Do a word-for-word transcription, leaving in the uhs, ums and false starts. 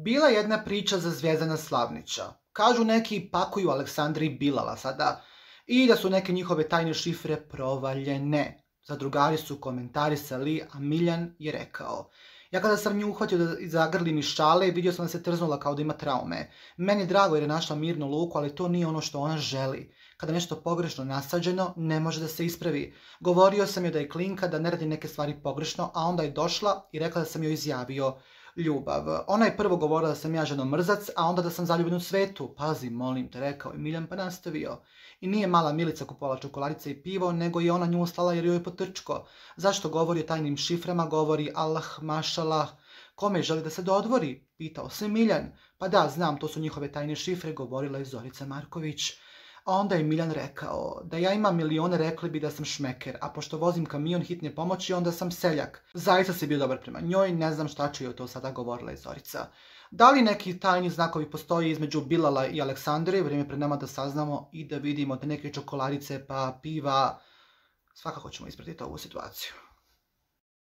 Bila je jedna priča za Zvijezdana Slavnića. Kažu neki pakuju Aleksandri Bilala sada i da su neke njihove tajne šifre provaljene. Zadrugari su komentarisali, a Miljan je rekao: ja kada sam nju uhvatio da zagrlim iz šale, vidio sam da se trznula kao da ima traume. Meni je drago jer je našla mirnu luku, ali to nije ono što ona želi. Kada je nešto pogrešno nasađeno, ne može da se ispravi. Govorio sam joj da je klinka, da ne radi neke stvari pogrešno, a onda je došla i rekla da sam joj izjavio ljubav. Ona je prvo govorila da sam ja ženomrzac, a onda da sam zaljubljen u svetu. Pazi, molim te, rekao je Miljan, pa nastavio. I nije mala Milica kupovala čokoladice i pivo, nego je ona nju slala jer joj je potrčko. Zašto govori o tajnim šiframa? Govori Allah, mašalah. Kome želi da se dodvori? Pitao se Miljan. Pa da, znam, to su njihove tajne šifre, govorila je Zorica Marković. A onda je Miljan rekao: da ja imam milione, rekli bi da sam šmeker, a pošto vozim kamion hitne pomoći, onda sam seljak. Zaista si bio dobar prema njoj, ne znam šta će joj to sada, govorila je Zorica. Da li neki tajni znakovi postoji između Bilala i Aleksandre? Vrijeme pred nama da saznamo i da vidimo da neke čokoladice pa piva. Svakako ćemo ispratiti ovu situaciju.